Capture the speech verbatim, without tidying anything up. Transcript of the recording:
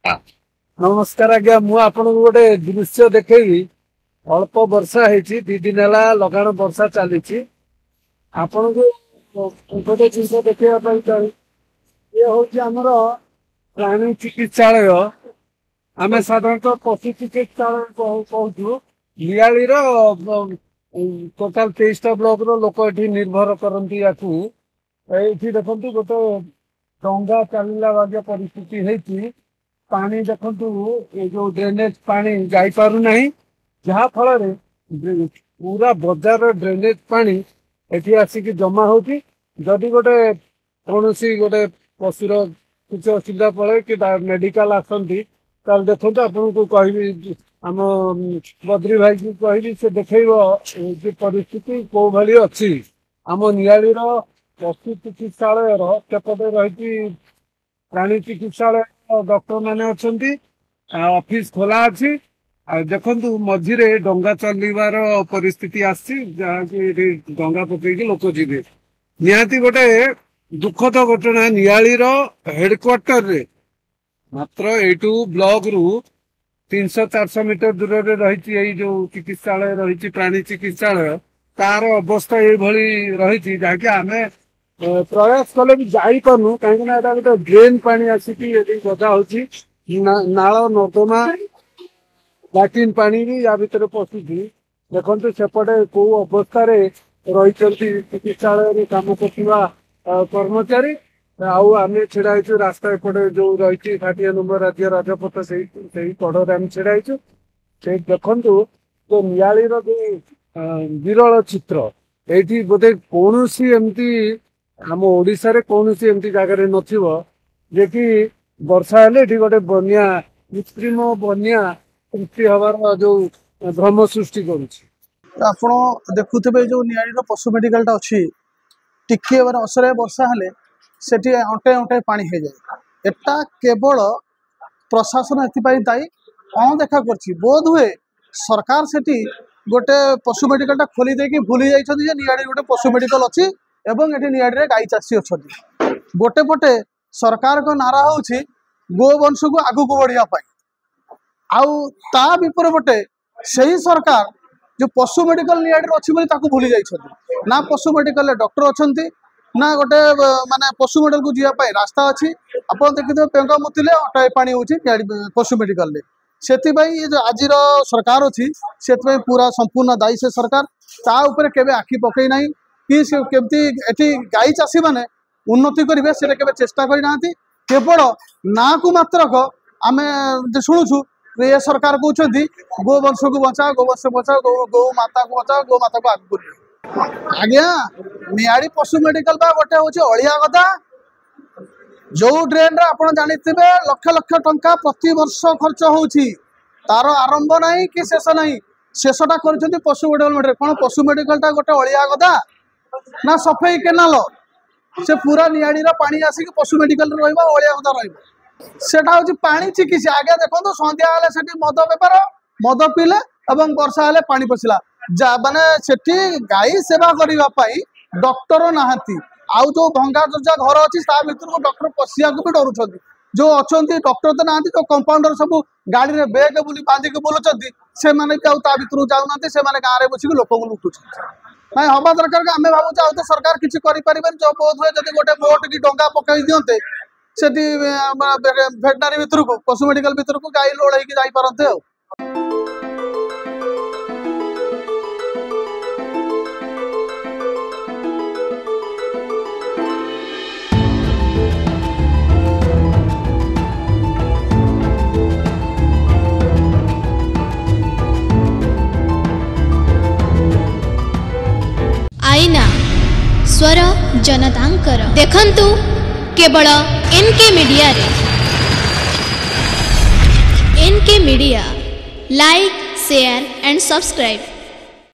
ନମସ୍କାର ଆଜ୍ଞା, ମୁଁ ଆପଣଙ୍କୁ ଗୋଟେ ଦୃଶ୍ୟ ଦେଖେଇବି। ଅଳ୍ପ ବର୍ଷା ହେଇଛି, ଦି ଦିନ ହେଲା ଲଗାଣ ବର୍ଷା ଚାଲିଛି। ଆପଣଙ୍କୁ ଗୋଟେ ଜିନିଷ ଦେଖେଇବା ପାଇଁ ଚାହୁଁ। ଇଏ ହଉଛି ଆମର ପ୍ରାଣୀ ଚିକିତ୍ସାଳୟ, ଆମେ ସାଧାରଣତଃ ପଶୁ ଚିକିତ୍ସାଳୟ କହୁଛୁ। ନିଆଳିର ଟୋଟାଲ ତେଇଶଟା ବ୍ଲକର ଲୋକ ଏଠି ନିର୍ଭର କରନ୍ତି ୟାକୁ। ଏଇଠି ଦେଖନ୍ତୁ, ଗୋଟେ ଡଙ୍ଗା ଚାଲିଲା ବାଗିଆ ପରିସ୍ଥିତି ହେଇଛି। ପାଣି ଦେଖନ୍ତୁ, ଏ ଯୋଉ ଡ୍ରେନେଜ ପାଣି ଯାଇପାରୁନାହିଁ, ଯାହା ଫଳରେ ପୁରା ବଜାର ଡ୍ରେନେଜ ପାଣି ଏଠି ଆସିକି ଜମା ହଉଛି। ଯଦି ଗୋଟେ କୌଣସି ଗୋଟେ ପଶୁର କିଛି ଅସୁବିଧା ପଡ଼େ କି ମେଡିକାଲ ଆସନ୍ତି, ତାହେଲେ ଦେଖନ୍ତୁ, ଆପଣଙ୍କୁ କହିବି, ଆମ ବଦ୍ରି ଭାଇକୁ କହିବି, ସେ ଦେଖେଇବ ଯେ ପରିସ୍ଥିତି କୋଉ ଭଳି ଅଛି। ଆମ ନିଆଳିର ପଶୁ ଚିକିତ୍ସାଳୟର ସେପଟେ ରହିଛି ପ୍ରାଣୀ ଚିକିତ୍ସାଳୟ, ଡକ୍ଟର ମାନେ ଅଛନ୍ତି, ଅଫିସ ଖୋଲା ଅଛି। ଆଉ ଦେଖନ୍ତୁ, ମଝିରେ ଡଙ୍ଗା ଚାଲିବାର ପରିସ୍ଥିତି ଆସିଛି, ଯାହାକି ଏଠି ଡଙ୍ଗା ପକେଇକି ଲୋକ ଯିବେ। ନିହାତି ଗୋଟେ ଦୁଃଖଦ ଘଟଣା। ନିଆଳିର ହେଡକ୍ୱାର୍ଟରରେ ମାତ୍ର ଏଇଠୁ ବ୍ଲକ ରୁ ତିନିଶହ ଚାରିଶହ ମିଟର ଦୂରରେ ରହିଛି ଏଇ ଯୋଉ ଚିକିତ୍ସାଳୟ ରହିଛି, ପ୍ରାଣୀ ଚିକିତ୍ସାଳୟ, ତାର ଅବସ୍ଥା ଏଇଭଳି ରହିଛି, ଯାହାକି ଆମେ ପ୍ରୟାସ କଲେ ବି ଯାଇପାରୁନୁ, କାହିଁକି ନା ଏଟା ଗୋଟେ ଡ୍ରେନ ପାଣି ଆସିକି ଏଠି ଗଦା ହଉଛି। ନାଳ ନର୍ଦ୍ଦମା ଲାଟ୍ରିନ୍ ପାଣି ବି ୟା ଭିତରେ ପଶୁଛି। ଦେଖନ୍ତୁ, ସେପଟେ କୋଉ ଅବସ୍ଥାରେ ରହିଛନ୍ତି ଚିକିତ୍ସାଳୟରେ କାମ କରୁଥିବା କର୍ମଚାରୀ। ଆଉ ଆମେ ଛିଡା ହେଇଛୁ ରାସ୍ତା ଏପଟେ ଯୋଉ ରହିଛି ଷାଠିଏ ନମ୍ବର ରାଜ୍ୟ ରାଜପଥ, ସେଇ ସେଇ କଡରେ ଆମେ ଛିଡା ହେଇଛୁ। ସେଇ ଦେଖନ୍ତୁ ଯୋଉ ନିଆଳିର ଯୋଉ ବିରଳ ଚିତ୍ର, ଏଇଠି ବୋଧେ କୌଣସି ଏମିତି ଆମ ଓଡିଶାରେ କୌଣସି ଏମିତି ଜାଗାରେ ନଥିବ ଯେ କି ବର୍ଷା ହେଲେ ଏଠି ଗୋଟେ ବନ୍ୟା, କୃତ୍ରିମ ବନ୍ୟା ସୃଷ୍ଟି ହବାର ଯୋଉ ଭ୍ରମ ସୃଷ୍ଟି କରୁଛି। ଆପଣ ଦେଖୁଥିବେ, ଯୋଉ ନିଆଳିର ପଶୁ ମେଡିକାଲଟା ଅଛି, ଟିକିଏ ମାନେ ଅସରାଏ ବର୍ଷା ହେଲେ ସେଠି ଅଣ୍ଟାଏ ଅଣ୍ଟାଏ ପାଣି ହେଇଯାଏ। ଏଟା କେବଳ ପ୍ରଶାସନ ଏଥିପାଇଁ ଦାୟୀ, ଅଣଦେଖା କରିଛି। ବୋଧ ହୁଏ ସରକାର ସେଠି ଗୋଟେ ପଶୁ ମେଡିକାଲଟା ଖୋଲି ଦେଇକି ଭୁଲି ଯାଇଛନ୍ତି ଯେ ନିଆଳି ଗୋଟେ ପଶୁ ମେଡିକାଲ ଅଛି ଏବଂ ଏଠି ନିଆଳିରେ ଗାଈ ଚାଷୀ ଅଛନ୍ତି। ଗୋଟେ ପଟେ ସରକାରଙ୍କ ନାରା ହେଉଛି ଗୋବଂଶକୁ ଆଗକୁ ବଢିବା ପାଇଁ, ଆଉ ତା ବିପରୀତ ପଟେ ସେହି ସରକାର ଯୋଉ ପଶୁ ମେଡିକାଲ ନିଆଳିରେ ଅଛି ବୋଲି ତାକୁ ଭୁଲି ଯାଇଛନ୍ତି। ନା ପଶୁ ମେଡିକାଲରେ ଡକ୍ଟର ଅଛନ୍ତି, ନା ଗୋଟେ ମାନେ ପଶୁ ମେଡିକାଲକୁ ଯିବା ପାଇଁ ରାସ୍ତା ଅଛି। ଆପଣ ଦେଖିଥିବେ, ପେଙ୍ଗ ମୁତିଲେ ଅଣ୍ଟାଏ ପାଣି ହେଉଛି ନିଆଳି ପଶୁ ମେଡିକାଲରେ। ସେଥିପାଇଁ ଏ ଯୋଉ ଆଜିର ସରକାର ଅଛି, ସେଥିପାଇଁ ପୁରା ସମ୍ପୂର୍ଣ୍ଣ ଦାୟୀ ସେ ସରକାର। ତା ଉପରେ କେବେ ଆଖି ପକେଇ ନାହିଁ କି ସେ କେମିତି ଏଠି ଗାଈ ଚାଷୀମାନେ ଉନ୍ନତି କରିବେ, ସେଟା କେବେ ଚେଷ୍ଟା କରିନାହାନ୍ତି। କେବଳ ନାଁକୁ ମାତ୍ରକ ଆମେ ଶୁଣୁଛୁ ଏ ସରକାର କହୁଛନ୍ତି ଗୋବଂଶକୁ ବଞ୍ଚାଅ, ଗୋବଂଶ ବଞ୍ଚାଅ, ଗୋ ଗୋ ମାତାକୁ ବଞ୍ଚାଅ, ଗୋ ମାତାକୁ ଆଗକୁ ନିଅ। ଆଜ୍ଞା, ନିଆଳି ପଶୁ ମେଡିକାଲ ବା ଗୋଟେ ହଉଛି ଅଳିଆ ଗଦା। ଯୋଉ ଡ୍ରେନରେ ଆପଣ ଜାଣିଥିବେ ଲକ୍ଷ ଲକ୍ଷ ଟଙ୍କା ପ୍ରତିବର୍ଷ ଖର୍ଚ୍ଚ ହଉଛି, ତାର ଆରମ୍ଭ ନାହିଁ କି ଶେଷ ନାହିଁ। ଶେଷଟା କରିଛନ୍ତି ପଶୁ ମେଡିକାଲ। କଣ ପଶୁ ମେଡିକାଲଟା ଗୋଟେ ଅଳିଆ ଗଦା ନା ସଫେଇ କେନାଲ? ସେ ପୁରା ନିଆଳିର ପାଣି ଆସିକି ପଶୁ ମେଡିକାଲରେ ରହିବ, ଅଳିଆ ଗଦା ରହିବ। ସେଟା ହଉଛି ପାଣି ଚିକିତ୍ସା। ଆଜ୍ଞା ଦେଖନ୍ତୁ, ସନ୍ଧ୍ୟା ହେଲେ ସେଠି ମଦ ବେପାର, ମଦ ପିଇଲେ ଏବଂ ବର୍ଷା ହେଲେ ପାଣି ପଶିଲା। ଯା ମାନେ ସେଠି ଗାଈ ସେବା କରିବା ପାଇଁ ଡକ୍ଟର ନାହାନ୍ତି। ଆଉ ଯୋଉ ଭଙ୍ଗା ଚୁଚା ଘର ଅଛି, ତା ଭିତରକୁ ଡକ୍ଟର ପଶିବାକୁ ବି ଡରୁଛନ୍ତି। ଯୋଉ ଅଛନ୍ତି ଡକ୍ଟର ତ ନାହାନ୍ତି, ଯୋଉ କମ୍ପାଉଣ୍ଡର ସବୁ ଗାଡିରେ ବେଗ ବୁଲି ବାନ୍ଧିକି ବୁଲୁଛନ୍ତି, ସେମାନେ ବି ଆଉ ତା ଭିତରକୁ ଯାଉନାହାନ୍ତି। ସେମାନେ ଗାଁରେ ବସିକି ଲୋକଙ୍କୁ ଲୁଟୁଛନ୍ତି। ନାଇଁ ହବା ଦରକାର। ଆମେ ଭାବୁଛୁ ଆଉ ତ ସରକାର କିଛି କରିପାରିବେନି। ଯୋଉ ବୋଧ ହୁଏ ଯଦି ଗୋଟେ ବୋଟ କି ଡଙ୍ଗା ପକେଇ ଦିଅନ୍ତେ ସେଠି ଭେଟନାରୀ ଭିତରକୁ, ପଶୁ ମେଡିକାଲ ଭିତରକୁ, ଗାଈ ଲୋଡ ହେଇକି ଯାଇପାରନ୍ତେ। ଆଉ ଆଇନା ସ୍ୱର ଜନତାଙ୍କର ଦେଖନ୍ତୁ କେବଳ ଏନ୍କେ ମିଡ଼ିଆରେ। N K media, like, share and subscribe.